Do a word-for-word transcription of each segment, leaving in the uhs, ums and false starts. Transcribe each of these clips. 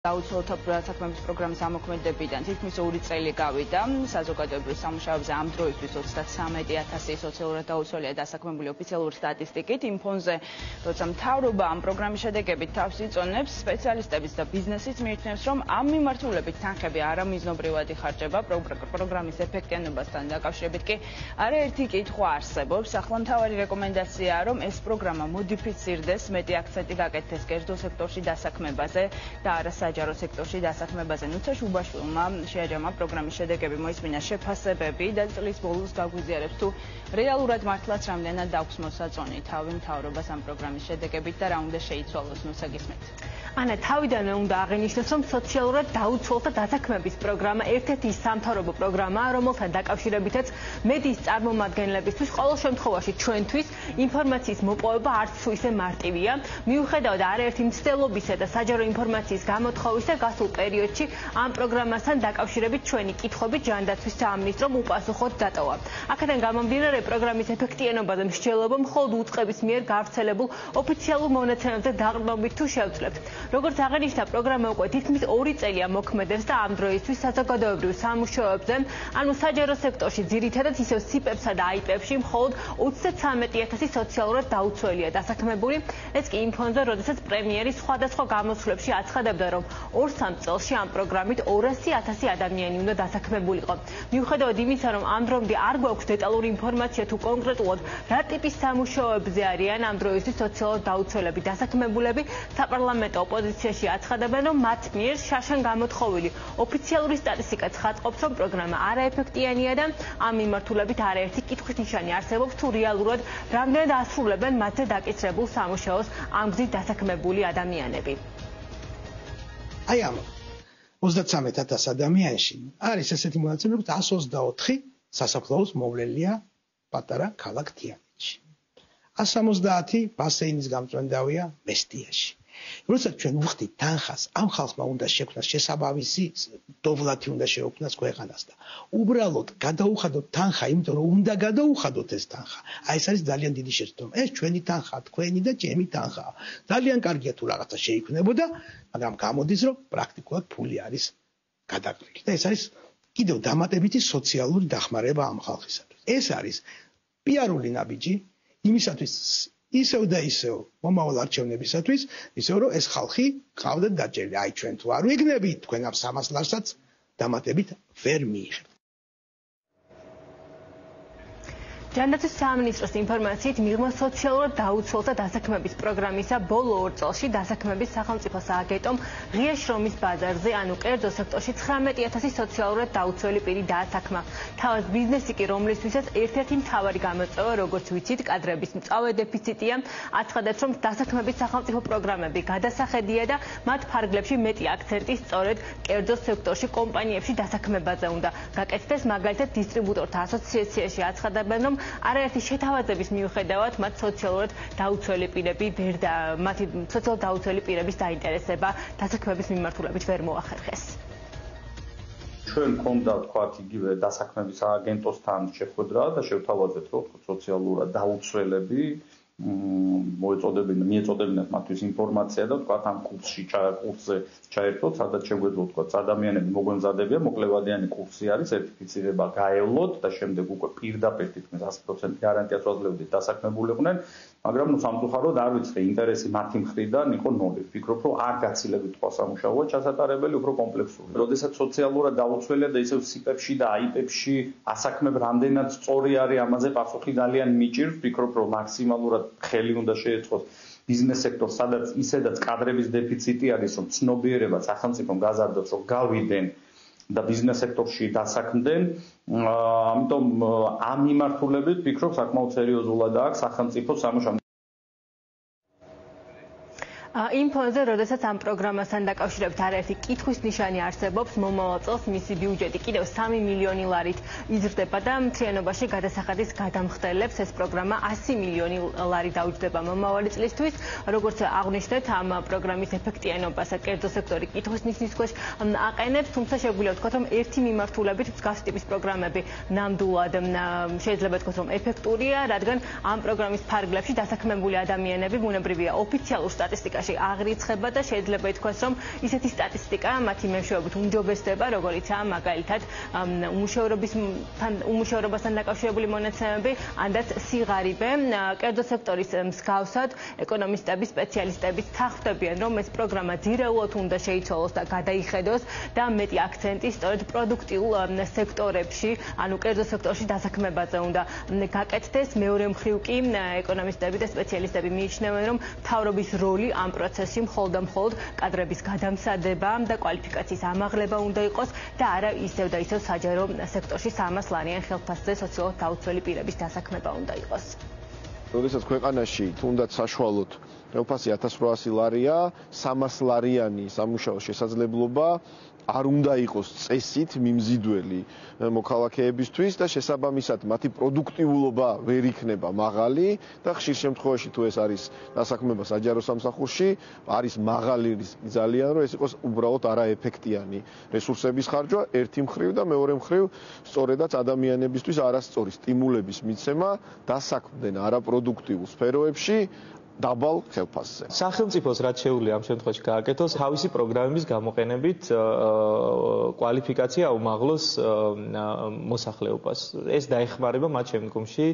დაუცველთა საქმეების პროგრამის ამოქმედებიდან თითქმის ორი წელი გავიდა. საზოგადოებრივ სამუშაოებზე ამ დროისთვის ოცდათსამეტი ათასი სოციალურად დაუცველია დასაქმებული ოფიციალური სტატისტიკით. იმ ფონზე, როცა მთავრობა ამ პროგრამის შედეგებით თავს იწონებს, სპეციალისტებიც და ბიზნესიც მიიჩნევს, რომ ამ მიმართულებით თანხები არამიზნობრივად იხარჯება. პროგრამის ეფექტიანობასთან დაკავშირებით კი არაერთი კითხვა არსებობს. ახლა მთავარი რეკომენდაციაა, რომ ეს პროგრამა მოდიფიცირდეს, მეტი აქცენტი გაკეთდეს კერძო სექტორში დასაქმებაზე და არა საჯარო სექტორში დასაქმებაზე. ნუცა შუბაშვილმა შეაჯამა პროგრამის შედეგები მოისმინა შეფასებები და წლის ბოლოს გაგვიზიარებს თუ რეალურად მართლაც რამდენად აქვს მოსაწონი თავი მთავრობას ამ პროგრამის შედეგებით და რა უნდა შეიცვალოს. ნუცა გისმენთ. ანა, თავიდანვე უნდა აღინიშნოს, რომ სოციალურად დაუცველთა დასაქმების პროგრამა ერთ-ერთი სამთავრობო პროგრამაა, რომელთან დაკავშირებითაც მედიის წარმომადგენლებისთვის ყოველ შემთხვევაში ჩვენთვის ინფორმაციის მოპოვება არც თუ ისე მარტივია. მიუხედავად არაერთი მცდელობისა და საჯარო ინფორმაციის გამოთხოვისა, გასულ პერიოდში ამ პროგრამასთან დაკავშირებით ჩვენი კითხვები ჯანდაცვის სამინისტრომ უპასუხოდ დატოვა. აქედან გამომდინარე, პროგრამის ეფექტიანობა და მსჯელობა მხოლოდ უწყების მიერ გავრცელებულ ოფიციალურ მონაცემებზე დაყრდნობით თუ შევძლებთ. როგორც აღინიშნა, პროგრამა უკვე თითქმის ორი წელია მოქმედებს და ამ დროისთვის საზოგადოებრივ სამუშაოებზე, ანუ საჯარო სექტორში, ძირითადად ისევ სიპებსა და აიპებში მხოლოდ ოცდათსამეტი ათასი სოციალურად დაუცველია დასაქმებული. ეს კი იმ ფონზე, როდესაც პრემიერი სხვადასხვა გამოსვლებში აცხადებდა, რომ ორ-სამ წელში ამ პროგრამით ორასი ათასი ადამიანი უნდა დასაქმებულიყო. მიუხედავად იმისა, რომ ამ დრომდე არ გვაქვს დეტალური ინფორმაცია თუ კონკრეტულად რა ტიპის სამუშაოებზე არიან ამ დროისთვის სოციალურად დაუცველები დასაქმებულები, საპარლამენტო ოპოზიციაში აცხადებენ, რომ მათ მიერ შაშან გამოთხოვილი ოფიციალური სტატისტიკა ცხადყოფს, რომ პროგრამა არაეფექტიანია და ამ მიმართულებით არაერთი კითხვის ნიშანი არსებობს, თუ რეალურად რამდენად ასრულებენ მათზე დაკისრებულ სამუშაოს ამ გზით დასაქმებული ადამიანები. აი ამ ოცდათსამეტ ათას ადამიანში არის ესეთი მონაცემები, რომ εκατს ოცდაოთხი სასაფლაოს მოვლენილია პატარა ქალაქ თიანეთში. εκατს სამოცდაათი ბასეინის გამწვენდავია მესტიაში. როდესაც ჩვენ ვხდით თანხას, ამ ხალხმა უნდა შექმნას შესაბამისი დოვლათი უნდა შეექმნას ქვეყანას და უბრალოდ გადაუხადოთ თანხა, იმიტომ რომ უნდა გადაუხადოთ ეს თანხა. აი ეს არის ძალიან დიდი შეცდომა. ეს ჩვენი თანხაა, თქვენი და ჩემი თანხაა. ძალიან კარგია თუ რაღაცა შეიქმნებოდა, მაგრამ გამოდის, რომ პრაქტიკულად ფული არის გადაყრილი. და ეს არის კიდევ დამატებითი სოციალური დახმარება ამ ხალხისათვის. ეს არის პიარული ნაბიჯი იმისათვის ისევ და ისევ მომავალ არჩევნებისათვის, ისევ რომ ეს ხალხი ყავდათ დაჭერილი. აი ჩვენ თუ არ ვიგნებით, თქვენ ამ სამას ლარსაც დამატებით ვერ მიიღებთ. ჯანდაცვის სამინისტროს ინფორმაციით, მიღმა სოციალურად დაუცველთა დასაქმების პროგრამისა ბოლო ორ წელში დასაქმების სახელმწიფო სააგენტომ ღია შრომის ბაზარზე, ანუ კერძო სექტორში ცხრამეტი ათასი სოციალურად დაუცველი პირი დაასაქმა. თავად ბიზნესი კი, რომლისთვისაც ერთ-ერთი მთავარი გამოწვევა, როგორც ვიცით, კადრების მწვავე დეფიციტია, აცხადებს, რომ დასაქმების სახელმწიფო პროგრამები გადასახედია და მათ ფარგლებში მეტი აქცენტი სწორედ კერძო სექტორში კომპანიებში დასაქმებაზე უნდა გაკეთდეს. მაგალითად, დისტრიბუტორთა ასოციაციაში აცხადებენ, რომ არაერთი შეთავაზების მიუხედავად მათ სოციალურად დაუცველი პირები ვერ და მათი სოციალურად დაუცველი პირების დაინტერესება დასაქმების მიმართულებით ვერ მოახერხეს. ჩვენ გქონდა თქვათ იგივე დასაქმების სააგენტოსთან შეხვედრა და შევთავაზეთ, რომ სოციალურად დაუცველები მოეწოდებინა, მიეწოდებინათ მათთვის ინფორმაცია და თქვათ ამ კურსში კურსზე ჩაერთოთ, სადაც შეგვეძლო თქვათ ადამიანები მოგვემზადებია, მოკლევადიანი კურსი არის, სერტიფიცირება გაევლოთ და შემდეგ უკვე პირდაპირ თითქმის ათი პროცენტი გარანტიას ვაძლევდით დასაქმებულიყვნენ, მაგრამ ნუ სამწუხაროდ არ ვიცხე ინტერესი მათი მხრიდან იყო ნული. ვფიქრობ, რომ არ გაცილებით სხვა სამუშაოა ჩასატარებელი, უფრო კომპლექსური. როდესაც სოციალურად დაუცველია და ისევ სიპებში და აიპებში ასაქმებ რამდენად სწორი არის ამაზე პასუხი ძალიან მიჭირს, ვფიქრობ, რომ მაქსიმალურად ხელი უნდა შეეწყოს ბიზნეს სექტორს, სადაც ისედაც კადრების დეფიციტი არის, რომ ცნობიერება სახელმწიფომ გაზარდოს, რომ გავიდენ და ბიზნეს სექტორში დასაქმდნენ. ამიტომ ამ მიმართულებით ვფიქრობ, საკმაოდ სერიოზულად აქვს სახელმწიფო სამუშაო. იმ ფონზე, როდესაც ამ პროგრამასთან დაკავშირებით არაერთი კითხვის ნიშანი არსებობს, მომავალ წელს მისი ბიუჯეტი კიდევ სამი მილიონი ლარით იზრდება და მთლიანობაში გადასახადის გადამხდელებს ეს პროგრამა ასი მილიონი ლარი დაუჯდება მომავალი წლისთვის. როგორც აღნიშნეთ, ამ პროგრამის ეფექტიანობასა კერძო სექტორი კითხვის ნიშნის ქვეშ აყენებს, თუმცა შეგვიძლია ვთქვათ, რომ ერთი მიმართულებით მსგავსი ტიპის პროგრამები ნამდვილად შეიძლება ვთქვათ, რომ ეფექტურია, რადგან ამ პროგრამის ფარგლებში დასაქმებული ადამიანები ბუნებრივია ოფიციალურ სტატისტიკაში სექტორში აღრიცხება და შეიძლება ითქვას, რომ ისეთი სტატისტიკა მათი მეშვეობით უმჯობესდება, როგორიცაა მაგალითად უმუშევრობასთან უმუშევრობასთან დაკავშირებული მონაცემები, ანდაც სიღარიბე. კერძო სექტორის მსგავსად ეკონომისტები, სპეციალისტები თანხმდებიან, რომ ეს პროგრამა ძირეულად უნდა შეიცვალოს და გადაიხედოს და მეტი აქცენტი სწორედ პროდუქტიულ სექტორებში, ანუ კერძო სექტორში დასაქმებაზე უნდა გაკეთდეს. მეორე მხრივ კი ეკონომისტები და სპეციალისტები მიიჩნევენ, რომ მთავრობის როლი ამ პროცესში მხოლოდ და მხოლოდ კადრების გადამსადება და კვალიფიკაციის ამაღლება უნდა იყოს და არა ისევ და ისევ საჯარო სექტორში სამას ლარიან ხელფასზე სოციალურად დაუცველი პირების დასაქმება უნდა იყოს. როდესაც ქვეყანაში თუნდაც საშუალოდ ხელფასი ათას რვაასი ლარია, სამას ლარიანი სამუშაო შესაძლებლობა არ უნდა იყოს წესით მიმზიდველი მოქალაქეებისთვის და შესაბამისად მათი პროდუქტიულობა ვერ იქნება მაღალი და ხშირ შემთხვევაში თუ ეს არის დასაქმება საჯარო სამსახურში, არის მაღალი ძალიან, რომ ეს იყოს უბრალოდ არაეფექტიანი რესურსების ხარჯვა ერთი მხრივ და მეორე მხრივ სწორედაც ადამიანებისთვის არასწორი სტიმულების მიცემა დასაქმდნენ არაპროდუქტიულ სფეროებში დაბალ ხელფასზე. სახელმწიფოს რაც შეუძლია ამ შემთხვევაში გააკეთოს, თავისი პროგრამების გამოყენებით კვალიფიკაცია აუმაღლოს მოსახლეობას. ეს დაეხმარება მათ შემდგომში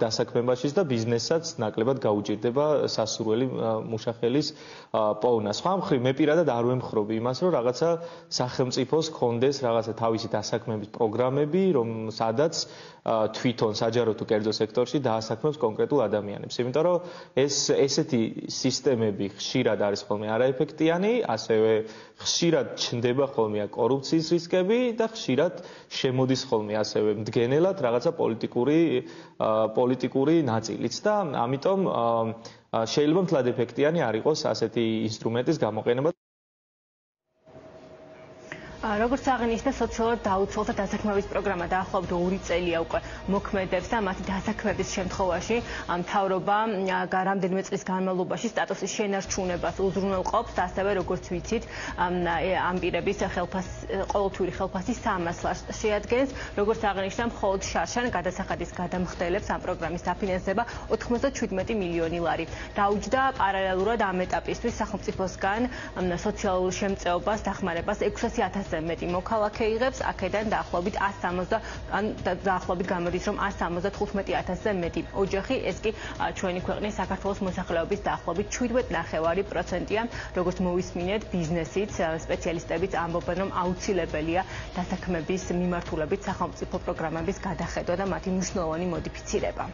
დასაქმებაშიც და ბიზნესსაც ნაკლებად გაუჭირდება სასურველი მუშახელის პოვნა. სხვა მხრივ მე პირადად არ ვემხრობი იმას, რომ რაღაცა სახელმწიფოს კონდეს რაღაცა თავისი დასაქმების პროგრამები, რომ სადაც თვითონ საჯარო თუ კერძო სექტორში დაასაქმებს კონკრეტულ ადამიანებს. იმიტომ რომ ეს ესეთი სისტემები ხშირად არის ხოლმე არაეფექტიანი, ასევე ხშირად ჩნდება ხოლმე კორუფციის რისკები და ხშირად შემოდის ხოლმე ასევე მდგენელად რაღაცა პოლიტიკური პოლიტიკური ნაწილიც და ამიტომ შეიძლება მთლად ეფექტიანი არ იყოს ასეთი ინსტრუმენტის გამოყენება. როგორც აღინიშნა, სოციალურად დაუცველთა დასაქმების პროგრამა დაახლოებით ორი წელია უკვე მოქმედებს და მათი დასაქმების შემთხვევაში მთავრობა რამდენიმე წლის განმავლობაში სტატუსის შენარჩუნებას უზრუნველყოფს, ასევე როგორც ვიცით, ამ პირების ყოველთვიური ხელფასი სამას ლარს შეადგენს. როგორც აღინიშნა, მხოლოდ შარშან გადასახადის გადამხდელებს ამ პროგრამის დაფინანსება ოთხმოცდაშვიდმეტი მილიონი ლარი. დაუჯდა პარალელურად ამ ეტაპისთვის სახელმწიფოსგან სოციალურ შემწეობას დახმარებას ექვსასი ათასზე მეტი მოქალაქე იღებს, აქედან დაახლოებით ას სამოცდა ან დაახლოებით გამოდის, რომ ას სამოცდათხუთმეტი ათასზე მეტი ოჯახი, ეს კი ჩვენი ქვეყნის საქართველოს მოსახლეობის დაახლოებით შვიდმეტ ნახევარი პროცენტია. როგორც მოვისმინეთ, ბიზნესიც, სპეციალისტებიც ამბობენ, რომ აუცილებელია დასაქმების მიმართულებით სახელმწიფო პროგრამების გადახედვა და მათი მნიშვნელოვანი მოდიფიცირება.